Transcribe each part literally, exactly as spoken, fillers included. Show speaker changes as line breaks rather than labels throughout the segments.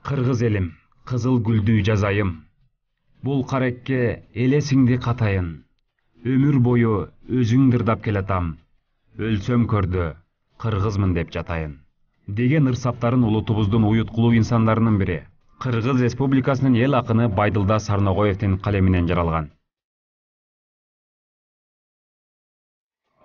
Кыргыз элим, кызыл гүлдүү жазайым. Бул карекке элесиңди катайын. Өмүр бою өзүң дырдап келатам. Өлсөм көрдө, кыргызмын деп жатайын. Деген ырсаптарын улутубуздун уюткулуу инсандарынын бири. Кыргыз Республикасынын эл акыны Байдылда Сарногоевдин калеминен жаралган.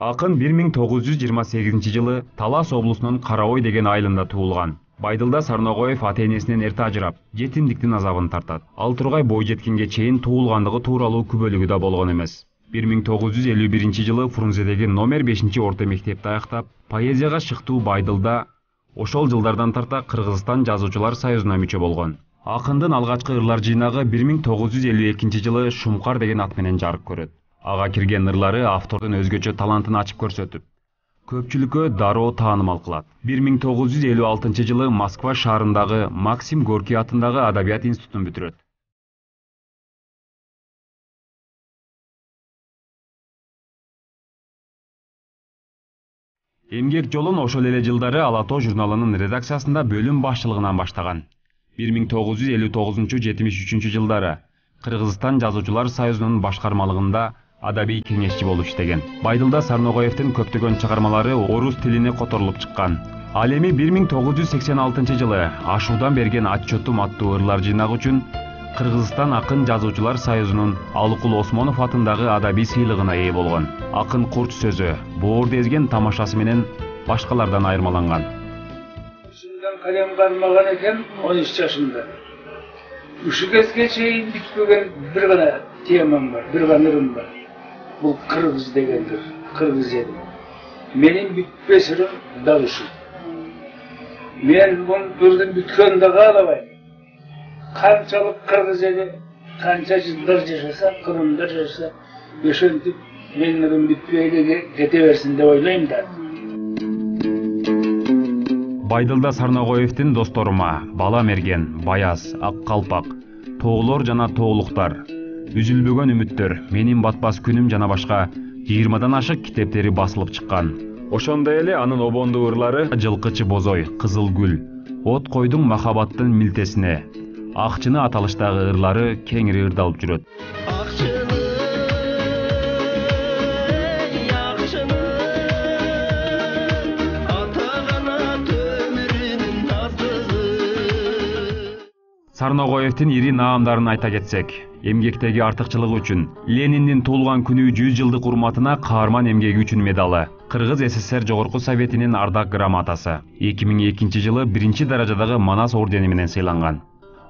Акын бир миң тогуз жүз жыйырма сегизинчи жылы Талас облусунун Караой деген айылында туулган. Байдылда Сарногоев ата-энесинен эрте ажырап, жетимдиктин азабын тартат. Ал тургай бой жеткенге чейин туулгандыгы тууралуу күбөлүгү да болгон эмес. бир миң тогуз жүз элүү биринчи жылы Фрунзедеги номер бешинчи орто мектепти аяктап, поэзияга шыктуу Байдылда ошол жылдардан тарта Кыргызстан жазуучулар союзуна мүчө болгон. Акындын алгачкы ырлар жыйнагы бир миң тогуз жүз элүү экинчи жылы Шумкар деген ат менен жарык көрөт. Ага кирген ырлары автордун өзгөчө талантын ачып көрсөтүп, көпчүлүккө дароо таанымал кылат. бир миң тогуз жүз элүү алтынчы жылы Москва шаарындагы Максим Горький атындагы Адабият институтун бүтүрөт. Эмгек жолун ошол эле жылдары Ала тоо журналынын редакциясында бөлүм башчылыгынан баштаган. бир миң тогуз жүз элүү тогузунчу — жетимиш үчүнчү жылдары Кыргызстан жазуучулар союзунун башкармалыгында адабий кеңешчи болуп иштеген. Байдылда Сарногоевдин көптөгөн чыгармалары орус тилине которулуп чыккан. Ал эми бир миң тогуз жүз сексен алтынчы жылы Ашуудан берген отчетум аттуу ырлар жыйнагы үчүн Кыргызстан акын жазуучулар союзунун Алыкул Осмонов атындагы адабий сыйлыгына ээ болгон. Акын курч сөзү, боорду эзген тамашасы менен башкалардан айырмаланган.
Ушундан калем кармаган экен он үч жашымда. Ушу кезге чейин бүтпөгөн бир гана темам бар, бир гана ырым бар. Бул кыргыз дегендир, кыргыз элим. Менин бүтпөс ырым дал ушу. Мен бул ырдын бүткөнүн да каалабайм. Канчалык кыргыз эли, канча жылдар жашаса, кырымда жашаса, ошентип менин ырым бүтпөй эле кете берсин деп ойлойм да.
Байдылда Сарногоевдин досторума Бала Мерген, Баяз, Ак Калпак, Тоолор жана Тоолуктар, Үзүлбөгөн үмүттөр, Менин батпас күнүм жана башка жыйырмадан ашык китептери басылып чыккан. Ошондой эле анын обондуу ырлары Жылкычы бозой, Кызыл гүл, От койдуң махабаттын милтесине, Акчыны аталыштагы ырлары кеңири ырдалып жүрөт. Сарногоевдин ири наамдарын айта кетсек, эмгектеги артыкчылыгы үчүн Лениндин туулган күнү жүз жылдык урматына каарман эмгеги үчүн медалы, Кыргыз СССР Жогорку Советинин ардак грамотасы, эки миң экинчи жылы биринчи даражадагы Манас ордени менен сыйланган.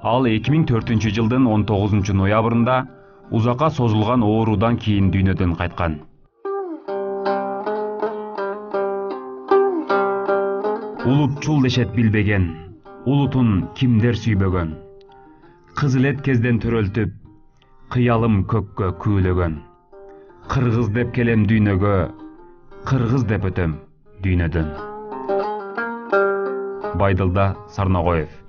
Ал эки миң төртүнчү жылдын он тогузунчу ноябрында узакка созулган оорудан кийин дүйнөдөн кайткан. Улутчул дешет билбеген, улутун кимдер сүйбөгөн. Кызыл кезден төрөлтүп, кыялым көккө күүлөгөн. Кыргыз деп келем дүйнөгө, кыргыз деп өтөм дүйнөдөн. Байдылда Сарногоев.